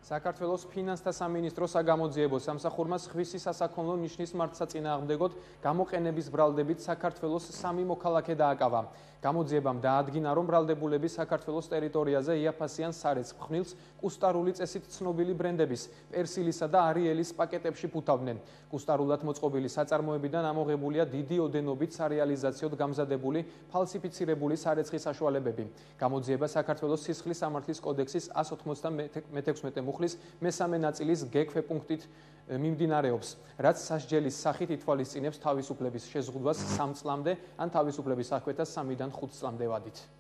საქართველოს ფინანსთა სამინისტროს საგამოძიებო სამსახურმა სხვისი სასაქონლო ნიშნის მართსაწინააღმდეგოდ გამოყენების ბრალდებით საქართველოს 3 მოქალაქე დააკავა. გამოძიებამ დაადგინა, რომ ბრალდებულები საქართველოს ტერიტორიაზე იაფასიან სარეცხ ხმილს კუსტარული წესით ცნობილი ბრენდების პერსილისა და არიელის პაკეტებში ფუთავდნენ. კუსტარულად მოწყობილი საწარმოებიდან ამოღებულია დიდი ოდენობით სარეალიზაციოდ გამზადებული ფალსიფიცირებული სარეცხის საშუალებები. გამოძიება საქართველოს სისხლის სამართლის კოდექსის 196 მუხლის მესამე ნაწილის გ-ქვეპუნქტით მიმდინარეობს, რაც სასჯელის სახით ითვალისწინებს თავისუფლების შეზღუდვას 3 წლამდე ან თავისუფლების აღკვეთას 3-დან 5 წლამდე ვადით.